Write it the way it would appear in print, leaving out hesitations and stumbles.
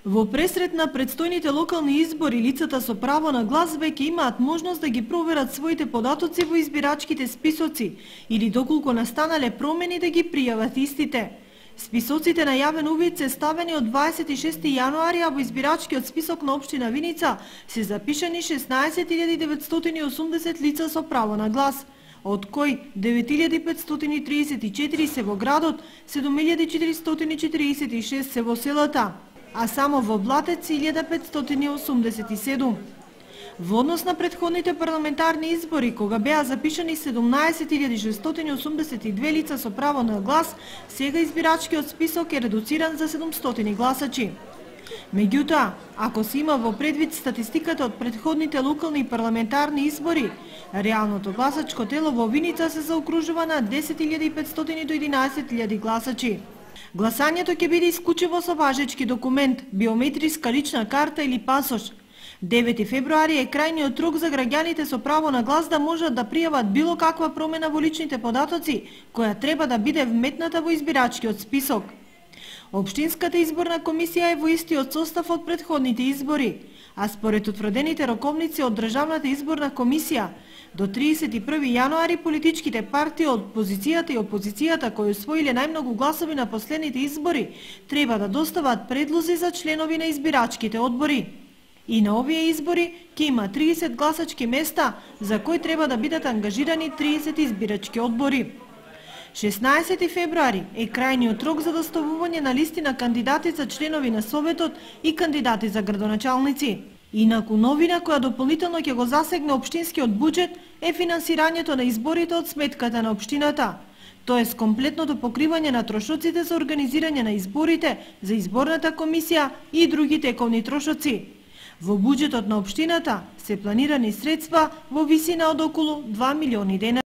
Во пресрет на предстојните локални избори, лицата со право на глас веќе имаат можност да ги проверат своите податоци во избирачките списоци или доколку настанале промени да ги пријават истите. Списоците на јавен увид се ставени од 26 јануари, а во избирачкиот список на општина Виница се запишани 16.980 лица со право на глас, од кои 9.534 се во градот, 7.446 се во селата, а само во Блатец 1587. Во однос на претходните парламентарни избори, кога беа запишани 17.682 лица со право на глас, сега избирачкиот список е редуциран за 700 гласачи. Меѓутоа, ако се има во предвид статистиката од претходните локални и парламентарни избори, реалното гласачко тело во Виница се заокружува на 10.500 до 11.000 гласачи. Гласањето ќе биде исклучиво со важечки документ, биометриска лична карта или пасош. 9 февруари е крајниот рок за граѓаните со право на глас да можат да пријават било каква промена во личните податоци, која треба да биде вметната во избирачкиот список. Општинската изборна комисија е во истиот состав од претходните избори, а според утврдените роковници од Државната изборна комисија, до 31 јануари политичките партии од позицијата и опозицијата кои усвоиле најмногу гласови на последните избори треба да достават предлози за членови на избирачките одбори. И на овие избори ќе има 30 гласачки места за кои треба да бидат ангажирани 30 избирачки одбори. 16 февруари е крајниот рок за доставување на листи на кандидати за членови на Советот и кандидати за градоначалници. Инаку новина која дополнително ќе го засегне општинскиот буџет е финансирањето на изборите од сметката на општината, тоест комплетното покривање на трошоците за организирање на изборите, за изборната комисија и други тековни трошоци. Во буџетот на општината се планирани средства во висина од околу 2 милиони денари.